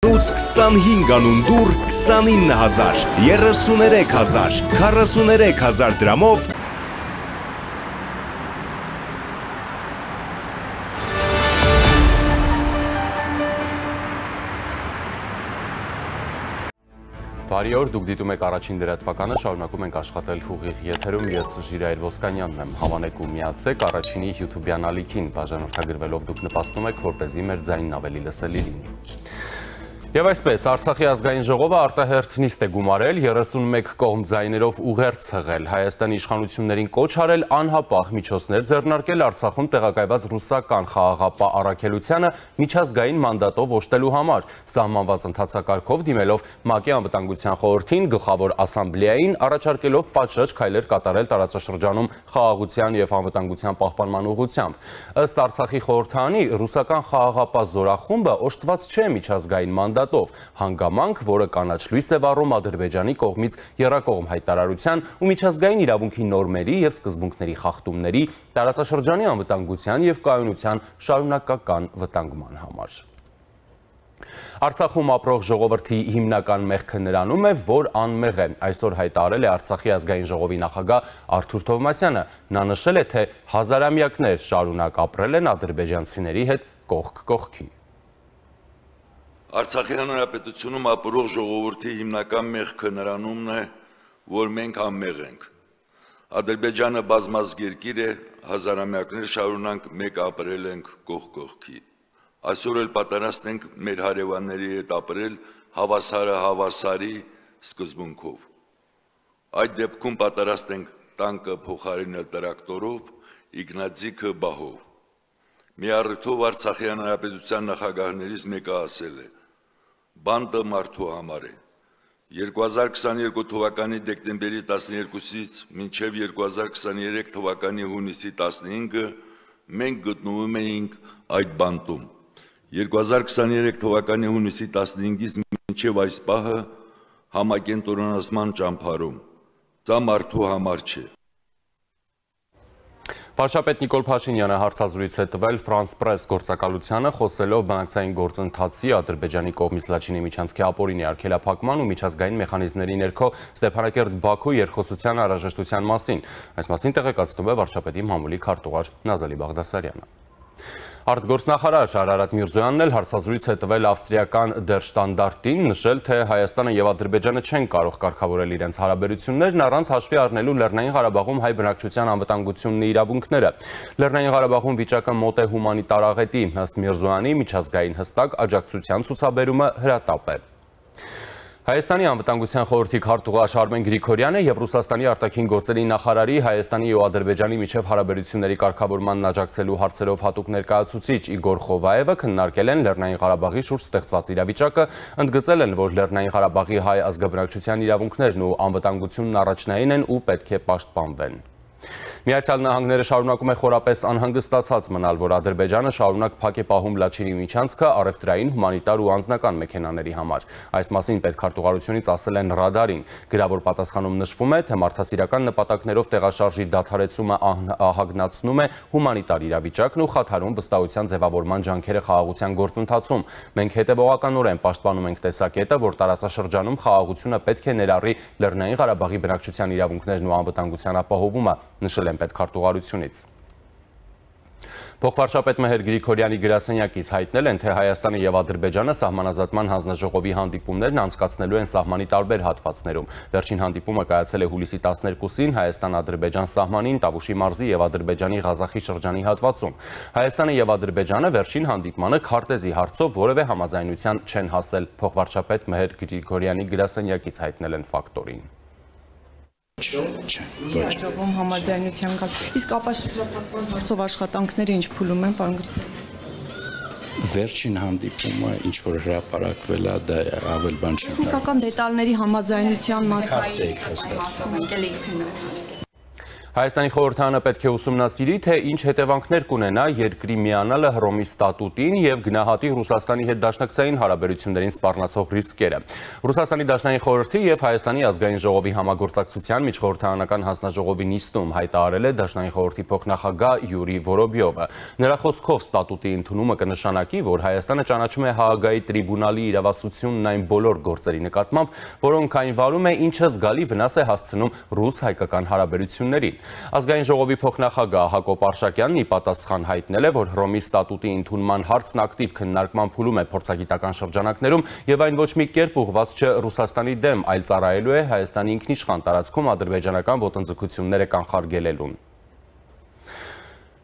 25 անուն դուր 29,000, 33,000, 43,000 դրամով Բարի օր, դուք դիտում եք առաջին լրատվականը, շարունակում ենք աշխատել ուղիղ եթերում, ես Ժիրայր Ոսկանյանն եմ, հավանեք ու միացեք առաջինի YouTube-յան ալիքին, բաժանորդագրվելով դուք նպաստում եք, որպեսզի մեր ձայնն ավելի լսելի լինի։ Եվ այսպես, Արցախի ազգային ժողովը արտահերթ նիստ է գումարել, 31 կողմ ձայներով ուղերձ ցղել, Հայաստանի իշխանություններին կոչ արել անհապաղ միջոցներ ձեռնարկել Արցախում տեղակայված ռուսական խաղաղապահ առաքելությանը միջազգային մանդատով օժտելու համար, սահմանված ընթացակարգով դիմելով ՄԱԿ-ի անվտանգության խորհրդին, գլխավոր ասամբլեային, առաջարկելով պատշաճ քայլեր կատարել տարածաշրջանում խաղաղության և անվտանգության պահպանման ուղղությամբ։ Ըստ Արցախի խորհրդարանի, ռուսական խաղաղապահ զորախումբը օժտված չէ միջազգային մանդատով, հանգամանք, որը կանաչ լույս է վառում Ադրբեջանի կողմից եռակողմ հայտարարության ու միջազգային իրավունքի նորմերի և սկզբունքների խախտումների, տարածաշրջանի անվտանգության և կայունության շարունակական վտանգման համար։ Արցախում ապրող ժողովրդի հիմնական մեղքը նրանում է, որ անմեղ է, այսօր հայտարարել է Արցախի ազգային ժողովի նախագահ Արթուր Թովմասյանը, նա նշել է, թե հազարամյակներ շարունակ ապրել են ադրբեջանցիների հետ կողք կողքի։ Արցախի հանրապետությունում ապրող ժողովրդի հիմնական մեղքը նրանումն է, որ մենք անմեղ ենք։ Ադրբեջանը բազմազգ երկիր է, հազարամյակներ շարունակ մեկ ապրել ենք կողք կողքի։ Այսօր էլ պատրաստ ենք մեր հարևանների հետ ապրել հավասարը հավասարի սկզբունքով։ Այդ դեպքում պատրաստ ենք տանկը փոխարինել տրակտորով, իգնաձիգը բահով։ Մի առիթով Արցախի հանրապետության նախագահներից մեկը ասել է. բանդը մարդու համար է։ 2022 թվականի դեկտեմբերի 12-ից մինչև 2023 թվականի հունիսի 15-ը մենք գտնվում էինք այդ բանտում։ 2023 թվականի հունիսի 15-ից մինչև այս պահը համակենտրոնացման ճամփարում։ Սա մարդու համար չէ։ Վարչապետ Նիկոլ Փաշինյանը հարցազրույց է տվել France Press գործակալությանը, խոսելով բանակցային գործընթացի Ադրբեջանի կողմից Լաչինի միջանցքի ապօրինի արգելափակման ու միջազգային մեխանիզմների ներքո Ստեփանակերտ-Բաքու երկխոսության անհրաժեշտության մասին։ Այս մասին տեղեկացնում է վարչապետի մամուլի քարտուղար Նազալի Բաղդասարյանը։ Արտգործնախարար Արարատ Միրզոյանն էլ հարցազրույց է տվել ավստրիական Der Standard-ին, նշել, թե Հայաստանը և Ադրբեջանը չեն կարող կարգավորել իրենց հարաբերություններն առանց հաշվի առնելու Լեռնային Ղարաբաղում հայ բնակչության անվտանգությունն ու իրավունքները։ Լեռնային Ղարաբաղում վիճակը մոտ է հումանիտար աղետի, ըստ Միրզոյանի միջազգային հստակ աջակցության ցուցաբերումը հրատապ է։ Հայաստանի անվտանգության խորհրդի քարտուղար Արմեն Գրիգորյանը և Ռուսաստանի արտաքին գործերի նախարարի Հայաստանի ու Ադրբեջանի միջև հարաբերությունների կարգավորմանն աջակցելու հարցերով հատուկ ներկայացուցիչ Իգոր Խովայևը քննարկել են Լեռնային Ղարաբաղի շուրջ ստեղծված իրավիճակը, ընդգծել են, որ Լեռնային Ղարաբաղի հայ ազգաբնակչության իրավունքներն ու անվտանգությունն առաջնային են ու պետք է պաշտպանվեն։ Միացյալ Նահանգները շարունակում է խորապես անհանգստացած մնալ, որ Ադրբեջանը շարունակ փակ է պահում Լաչինի միջանցքը առևտրային, հումանիտար ու անձնական մեքենաների համար։ Այս մասին պետքարտուղարությունից ասել են Ռադարին։ Գրավոր պատասխանում նշվում է, թե մարդասիրական նպատակներով տեղաշարժի դադարեցումը ահագնացնում է հումանիտար իրավիճակն ու խաթարում վստահության ձևավորման ջանքերը խաղաղության գործընթացում։ Մենք հետևողականորեն պաշտպանում ենք տեսակետը, որ տարածաշրջանում խաղաղությունը պետք է ներառի Լեռնային Ղարաբաղի բնակչության իրավունքներն ու անվտանգության ապահովումը, նշել են պետքարտուղարությունից։ Փոխվարչապետ Մեհեր Գրիգորյանի գրասենյակից հայտնել են, թե Հայաստանը և Ադրբեջանը սահմանազատման հանձնաժողովի հանդիպումներն անցկացնելու են սահմանի տարբեր հատվածներում։ Վերջին հանդիպումը կայացել է հուլիսի 12-ին Հայաստան-Ադրբեջան սահմանին Տավուշի մարզի և Ադրբեջանի Ղազախի շրջանի հատվածում։ Հայաստանը և Ադրբեջանը վերջին հանդիպմանը քարտեզի հարցով որևէ համաձայնության չեն հասել։ Փոխվարչապետ Մեհեր Գրիգորյանի գրասենյակից հայտնել են ֆակտորին։ Աջակում համաձայնության կապ։ Իսկ ապաշրջապատման հարցով աշխատանքները ինչ փուլում են, պարոն Գրիգորյան։ Վերջին հանդիպումը ինչ որ հրապարակվել է, դա ավել բան չի։ Տեխնիկական դետալների համաձայնության մասին։ Հայաստանի խորհրդարանը պետք է ուսումնասիրի, թե ինչ հետևանքներ կունենա երկրի միանալը Հռոմի ստատուտին եւ գնահատի Ռուսաստանի հետ դաշնակցային հարաբերություններին սպառնացող ռիսկերը։ Ռուսաստանի Դաշնային խորհրդի եւ Հայաստանի ազգային ժողովի համագործակցության միջխորհրդարանական հանձնաժողովի նիստում հայտարարել է Դաշնային խորհրդի փոխնախագահ Յուրի Վորոբյովը։ Նրա խոսքով ստատուտի ընդունումը կնշանակի, որ Հայաստանը ճանաչում է Հաագայի տրիբունալի իրավասությունն այն բոլոր գործերի նկատմամբ, որոնք այն վարում է, ինչը զգալի վնաս է հասցնում ռուս-հայկական հարաբերություններին։ Ազգային ժողովի փոխնախագահ Հակոբ Արշակյանն ի պատասխան հայտնել է, որ Հռոմի ստատուտի ընդունման հարցն ակտիվ քննարկման փուլում է փորձագիտական շրջանակներում եւ այն ոչ մի կերպ ուղղված չէ Ռուսաստանի դեմ, այլ ծառայելու է Հայաստանի ինքնիշխան տարածքում ադրբեջանական ոտնձգությունները կանխարգելելուն։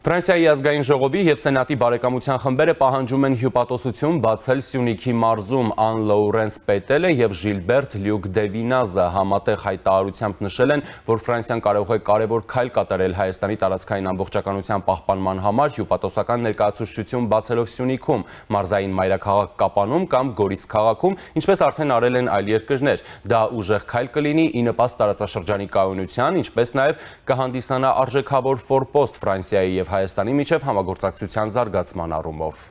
Ֆրանսիայի ազգային ժողովի եւ Սենատի բարեկամության խմբերը պահանջում են հյուպատոսություն բացել Սյունիքի մարզում Ան Լոուրենս Պետելը եւ Ժիլբերտ Լյուկ Դևինազը համատեղ հայտարարությամբ նշել են, որ Ֆրանսիան կարող է կարևոր քայլ կատարել Հայաստանի տարածքային ամբողջականության պահպանման համար հյուպատոսական ներկայացուցչություն բացելով Սյունիքում, մարզային մայրաքաղաք Կապանում կամ Գորիս քաղաքում, ինչպես արդեն արել են այլ երկրներ։ Դա ուժեղ քայլ կլինի ի նպաստ տարածաշրջանի կայունության, ինչպես նաեւ կհանդիսանա արժեքավոր ֆորպոստ Ֆրանսիայի եւ Հայաստանի միջև համագործակցության զարգացման առումով։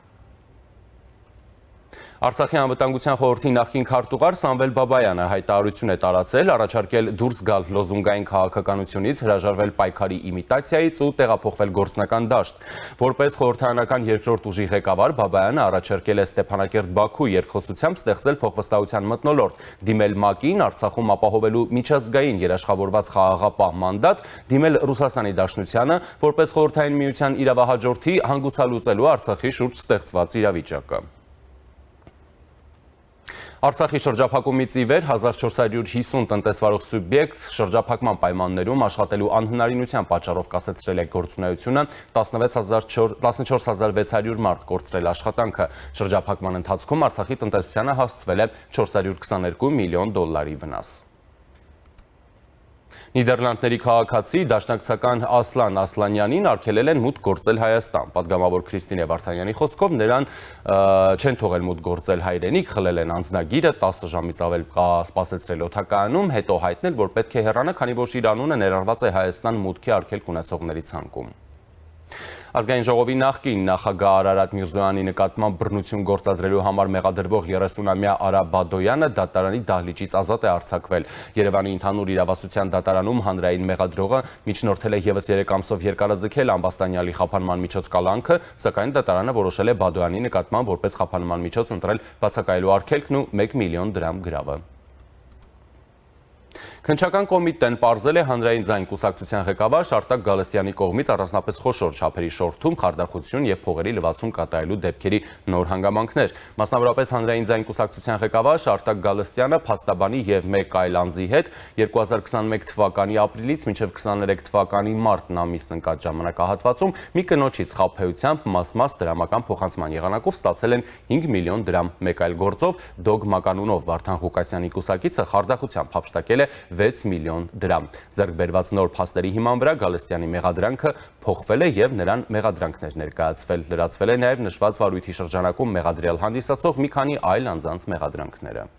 Արցախի անվտանգության խորհրդի նախկին քարտուղար Սամվել Բաբայանը հայտարարություն է տարածել, առաջարկել դուրս գալ լոզունգային քաղաքականությունից, հրաժարվել պայքարի իմիտացիայից ու տեղափոխվել գործնական դաշտ։ Որպես խորհրդարանական երկրորդ ուժի ղեկավար Բաբայանը առաջարկել է Ստեփանակերտ-Բաքու երկխոսությամբ ստեղծել փոխվստահության մթնոլորտ, դիմել ՄԱԿ-ին Արցախում ապահովելու միջազգային երաշխավորված խաղաղապահ մանդատ, դիմել Ռուսաստանի Դաշնությանը, որպես խորհրդային միության իրավահաջորդի հանգուցալուծելու Արցախի շուրջ ստեղծված իրավիճակը։ Արցախի շրջափակումից ի վեր 1450 տնտեսվարող սուբյեկտ շրջափակման պայմաններում աշխատելու անհնարինության պատճառով կասեցրել է գործունեությունը, 14600 մարդ կորցրել աշխատանքը։ Շրջափակման ընթացքում Արցախի տնտեսությանը հասցվել է 422 միլիոն դոլարի վնաս։ Նիդերլանդների քաղաքացի դաշնակցական Ասլան Ասլանյանին արգելել են մուտք գործել Հայաստան։ Պատգամավոր Քրիստինե Վարդանյանի խոսքով նրան չեն թողել մուտք գործել հայրենիք, խլել են անձնագիրը, 10 ժամից ավել սպասեցրել օդակայանում, հետո հայտնել, որ պետք է հեռանա, քանի որ իր անունը ներառված է Հայաստան մուտքի արգելք ունեցողների ցանկում։ Ազգային ժողովի նախկին նախագահ Արարատ Միրզոյանի նկատմամբ բռնություն գործադրելու համար մեղադրվող 30-ամյա Արա Բադոյանը դատարանի դահլիճից ազատ է արձակվել։ Երևանի ընդհանուր իրավասության դատարանում հանրային մեղադրողը միջնորդել է ևս 3 ամսով երկարաձգել Ամբաստանյալի խափանման միջոց կալանքը, սակայն դատարանը որոշել է Բադոյանի նկատմամբ որպես խափանման միջոց ընտրել բացակայելու արգելքն ու 1 միլիոն դրամ գրավը։ Քննչական կոմիտեն պարզել է հանրային ձայն կուսակցության ղեկավար Արտակ Գալստյանի կողմից առանձնապես խոշոր չափերի շորթում, խարդախություն եւ փողերի լվացում կատարելու դեպքերի նոր հանգամանքներ։ Մասնավորապես հանրային ձայն կուսակցության ղեկավար Արտակ Գալստյանը փաստաբանի եւ մեկ այլ անձի հետ 2021 թվականի ապրիլից մինչեւ 23 թվականի մարտն ամիսն ընկած ժամանակահատվածում մի կնոջից խաբեությամբ մաս-մաս դրամական փոխանցման եղանակով ստացել են 5 միլիոն դրամ։ Մեկ այլ գործով Դոգ կանունով Վարդան Ղուկասյանի կուսակիցը խարդախությամբ հափշտակել է 6 միլիոն դրամ։ Ձեռք բերված նոր փաստերի հիման վրա Գալստյանի մեղադրանքը փոխվել է եւ նրան մեղադրանքներ ներկայացվել։ Լրացվել է նաեւ նշված վարույթի շրջանակում մեղադրյալ հանդիսացող մի քանի այլ անձանց մեղադրանքները։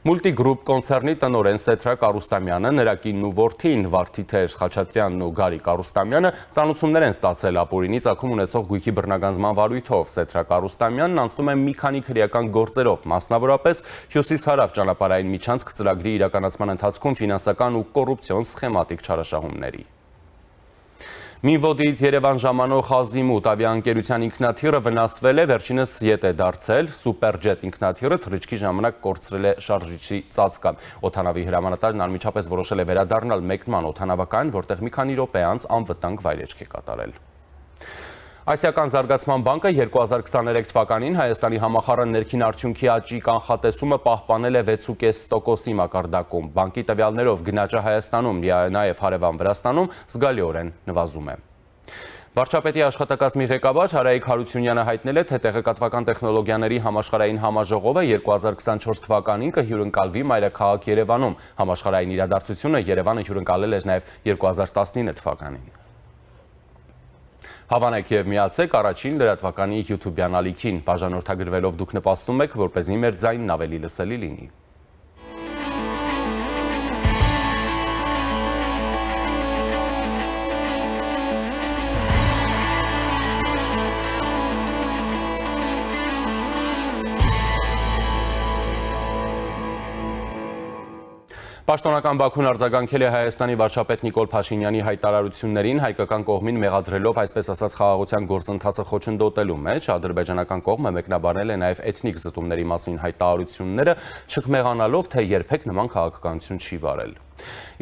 Մուլտիգրուպ կոնցեռնի տնօրեն Սեթրակ Արուստամյանը, նրա կինն ու որդին Վարդիթեր Խաչատրյանն ու Գարիկ Արուստամյանը ծանոթություններ են ստացել ապօրինի ծագում ունեցող գույքի բռնագանձման վարույթով։ Սեթրակ Արուստամյանն անցնում է մի քանի քրեական գործերով, մասնավորապես Հյուսիս-Հարավ ճանապարհային միջանցք ծրագրի իրականացման ընթացքում ֆինանսական ու կոռուպցիոն սխեմատիկ չարաշահումների։ Մինվոդից Երևան ժամանող Ազիմուտ ավիաընկերության ինքնաթիռը վնասվել է, վերջինս ետ է դարձել, Սուպերջետ ինքնաթիռը թռիչքի ժամանակ կորցրել է շարժիչի ծածկը։ Օդանավի հրամանատարն անմիջապես որոշել է վերադառնալ մեկնման օդանավակայան, որտեղ մի քանի րոպե անց անվտանգ վայրեջք է կատարել։ Ասիական զարգացման բանկը 2023 թվականին Հայաստանի համախառն ներքին արդյունքի աճի կանխատեսումը պահպանել է 6.5%-ի մակարդակում։ Բանկի տվյալներով գնաճը Հայաստանում, նաև հարևան Վրաստանում զգալիորեն նվազում է։ Վարչապետի աշխատակազմի ղեկավար Հարայիկ Հարությունյանը հայտնել է, թե տեղեկատվական տեխնոլոգիաների համաշխարհային համաժողովը 2024 թվականին կհյուրընկալվի մայրաքաղաք Երևանում։ Համաշխարհային իրադարձությունը Երևանը հյուրընկալել էր նաև 2019 թվականին։ Հավանեք եւ միացեք առաջին լրատվականի YouTube-յան ալիքին, բաժանորդագրվելով դուք նպաստում եք, որպեսզի մեր ձայնն ավելի լսելի լինի։ Պաշտոնական Բաքուն արձագանքել է Հայաստանի վարչապետ Նիկոլ Փաշինյանի հայտարարություններին, հայկական կողմին մեղադրելով այսպես ասած խաղաղության գործընթացը խոչընդոտելու մեջ, ադրբեջանական կողմը մեկնաբանել է նաև էթնիկ զտումների մասին հայտարարությունները, չկմեղանալով, թե երբեք նման քաղաքականություն չի վարել։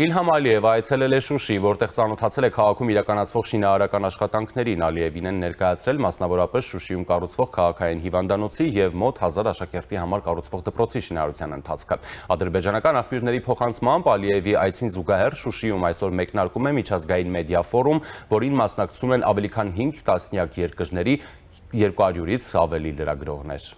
Իլհամ Ալիևը այցելել է Շուշի, որտեղ ծանոթացել է քաղաքում իրականացվող շինարարական աշխատանքներին։ Ալիևին են ներկայացրել մասնավորապես Շուշիում կառուցվող քաղաքային հիվանդանոցի եւ մոտ 1000 աշակերտի համար կառուցվող դպրոցի շինարարության ընթացքը։ Ադրբեջանական աղբյուրների փոխանցմամբ Ալիևի այցին զուգահեռ Շուշիում այսօր մեկնարկում է միջազգային մեդիա ֆորում, որին մասնակցում են ավելի քան 5 տասնյակ երկրների 200-ից ավելի լրագրողներ։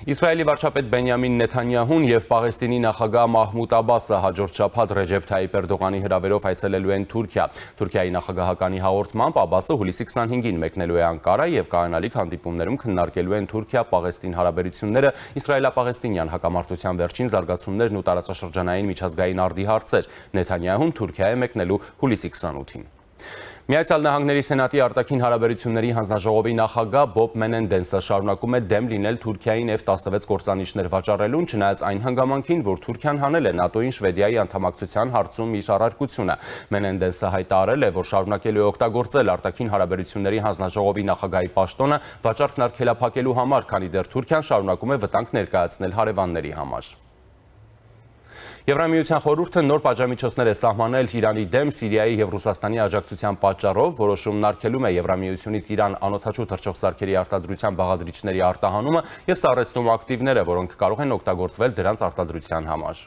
Իսրայելի վարչապետ Բենյամին Նեթանյահուն եւ Պաղեստինի նախագահ Մահմուդ Աբասը հաջորդ շաբաթ Ռեջեփ Թայիպ Էրդողանի հրավերով այցելելու են Թուրքիա։ Թուրքիայի նախագահականի հաղորդմամբ Աբասը հուլիսի 25-ին մեկնելու է Անկարա եւ կայանալիք հանդիպումներում քննարկելու են Թուրքիա-Պաղեստին հարաբերությունները, իսրայելա-պաղեստինյան հակամարտության վերջին զարգացումներն ու տարածաշրջանային միջազգային արդի հարցեր։ Նեթանյահուն Թուրքիա է մեկնելու հուլիսի 28-ին։ Միացյալ Նահանգների Սենատի արտաքին հարաբերությունների հանձնաժողովի նախագահ Բոբ Մենենդենսը շարունակում է դեմ լինել Թուրքիային F-16 կործանիչներ վաճառելուն, չնայած այն հանգամանքին, որ Թուրքիան հանել է ՆԱՏՕ-ին Շվեդիայի անդամակցության հարցում իր առարկությունը։ Մենենդենսը հայտարարել է, որ շարունակելու է օգտագործել արտաքին հարաբերությունների հանձնաժողովի նախագահի պաշտոնը վաճառքն արգելափակելու համար, քանի դեռ Թուրքիան շարունակում է վտանգ ներկայացնել հարևանների համար։ Եվրամիության խորհուրդը նոր պատժամիջոցներ է սահմանել Իրանի դեմ Սիրիայի եւ Ռուսաստանի աջակցության պատճառով, որոշումն արգելում է Եվրամիությունից Իրան անօդաչու թռչողսարքերի արտադրության բաղադրիչների արտահանումը եւ սառեցնում ակտիվները, որոնք կարող են օգտագործվել դրանց արտադրության համար։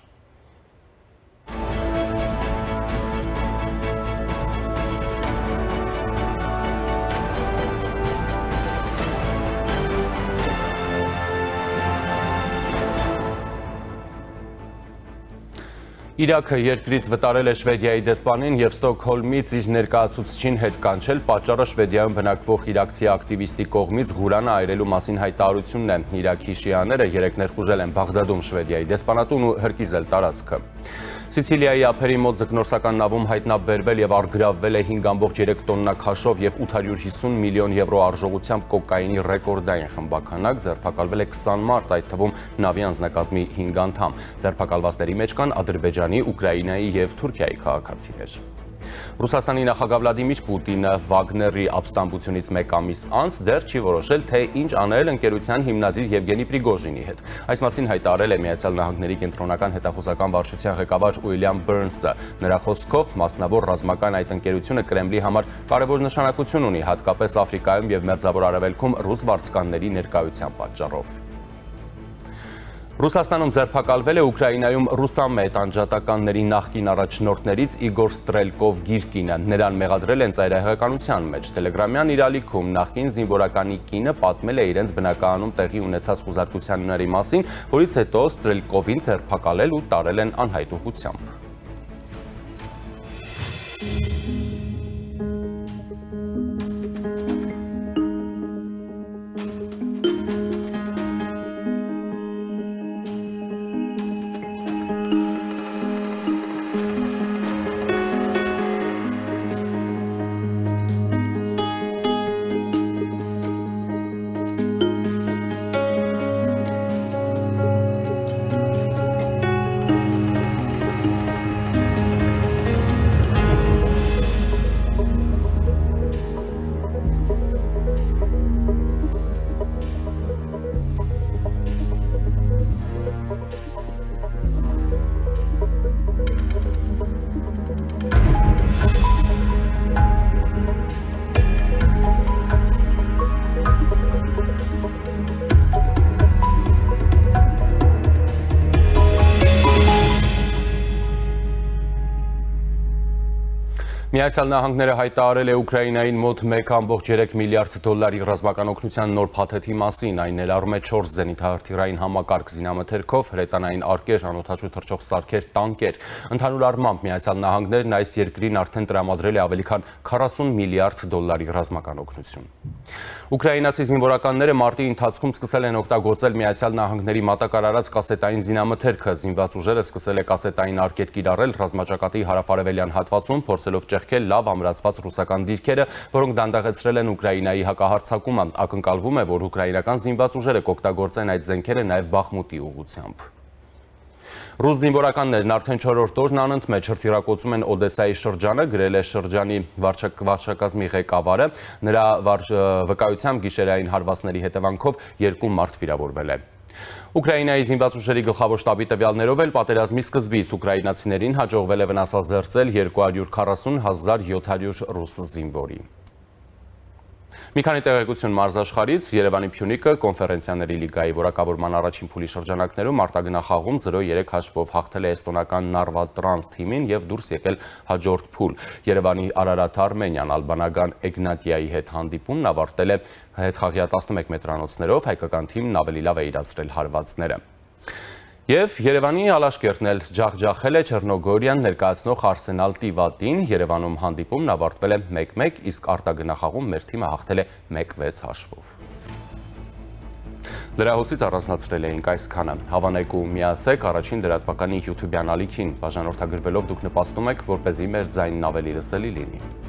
Իրաքը երկրից վտարել է Շվեդիայի դեսպանին եւ Ստոկհոլմից իր ներկայացուցչին հետ կանչել, պատճառը Շվեդիայում բնակվող իրաքցի ակտիվիստի կողմից Ղուրանը այրելու մասին հայտարարությունն է։ Իրաքի շիաները երեկ ներխուժել են Բաղդադում Շվեդիայի դեսպանատուն ու հրկիզել տարածքը։ Սիցիլիայի ափերի մոտ ձկնորսական նավում հայտնաբերվել եւ արգրավվել է 5.3 տոննա քաշով եւ 850 միլիոն եվրո արժողությամբ կոկայինի ռեկորդային խմբականակ, ձերբակալվել է 20 մարդ, այդ թվում նավի անձնակազմի 5 անդամ։ Ձերբակալվածների մեջ կան Ադրբեջանի, Ուկրաինայի եւ Թուրքիայի քաղաքացիներ։ Ռուսաստանի նախագահ Վլադիմիր Պուտինը Վագների ապստամբությունից մեկ ամիս անց դեռ չի որոշել, թե ինչ անել ընկերության հիմնադիր Եվգենի Պրիգոժինի հետ։ Այս մասին հայտարարել է Միացյալ Նահանգների կենտրոնական հետախուզական վարչության ղեկավար Ուիլյամ Բըրնսը։ Նրա խոսքով մասնավոր ռազմական այդ ընկերությունը Կրեմլի համար կարևոր նշանակություն ունի, հատկապես Աֆրիկայում եւ Մերձավոր Արևելքում ռուս վարձկանների ներկայության պատճառով։ Ռուսաստանում ձերբակալվել է Ուկրաինայում ռուսամետ անջատականների նախկին առաջնորդներից Իգոր Ստրելկով Գիրկինը։ Նրան մեղադրել են ծայրահեղականության մեջ։ Տելեգրամյան իր ալիքում նախկին զինվորականի կինը պատմել է իրենց բնակարանում տեղի ունեցած խուզարկությունների մասին, որից հետո Ստրելկովին ձերբակալել ու տարել են անհայտ ուղղությամբ։ Միացյալ Նահանգները հայտարարել է Ուկրաինային մոտ 1.3 միլիարդ դոլարի ռազմական օգնության նոր փաթեթի մասին, այն ներառում է 4 զենիթահրթիռային համակարգ զինամթերքով, հրետանային արկեր, անօդաչու թռչող սարքեր, տանկեր։ Ընդհանուր առմամբ Միացյալ Նահանգներն այս երկրին արդեն տրամադրել է ավելի քան 40 միլիարդ դոլարի ռազմական օգնություն։ Ուկրաինացի զինվորականները մարտի ընթացքում սկսել են օգտագործել Միացյալ Նահանգների մատակարարած կասետային զինամթերքը, զինված ուժերը սկսել է կասետային արկեր կիրառել ռազմաճակատի հարավարևելյան հատվածում, փորձելով ճեղքել լավ ամրացված ռուսական դիրքերը, որոնք դանդաղեցրել են Ուկրաինայի հակահարձակումը։ Ակնկալվում է, որ ուկրաինական զինված ուժերը կօգտագործեն այդ զենքերը նաև Բախմուտի ուղղությամբ։ Ռուս զինվորականներն արդեն 4-րդ օրն անընդմեջ հրթիռակոծում են Օդեսայի շրջանը, գրել է շրջանի վարչակազմի ղեկավարը, նրա վկայությամբ գիշերային հարվածների հետևանքով 2 մարդ վիրավորվել է։ Ուկրաինայի զինված ուժերի գլխավոր շտաբի տվյալներով էլ պատերազմի սկզբից ուկրաինացիներին հաջողվել է վնասազերծել 240,700 ռուս զինվորի։ Մի քանի տեղեկություն մարզաշխարհից, Երևանի Փյունիկը կոնֆերենցիաների լիգայի որակավորման առաջին փուլի շրջանակներում արտագնախաղում 0-3 հաշվով հաղթել է էստոնական Նարվա Տրանս թիմին եւ դուրս եկել հաջորդ փուլ։ Երևանի Արարատ Արմենիան ալբանական Էգնատիայի հետ հանդիպումն ավարտել է հետխաղյա 11 մետրանոցներով, հայկական թիմն ավելի լավ է իրացրել հարվածները։ Եվ Երևանի Ալաշկերտն էլ ջախջախել է Չեռնոգորիան ներկայացնող Արսենալ Տիվատին, Երևանում հանդիպումն ավարտվել է 1-1, իսկ արտագնախաղում մեր թիմը հաղթել է 1-6 հաշվով։ Լրահոսից առանձնացրել էինք այսքանը, հավանեք ու միացեք առաջին լրատվականի YouTube-յան ալիքին, բաժանորդագրվելով դուք նպաստում եք, որպեսզի մեր ձայնն ավելի լսելի լինի։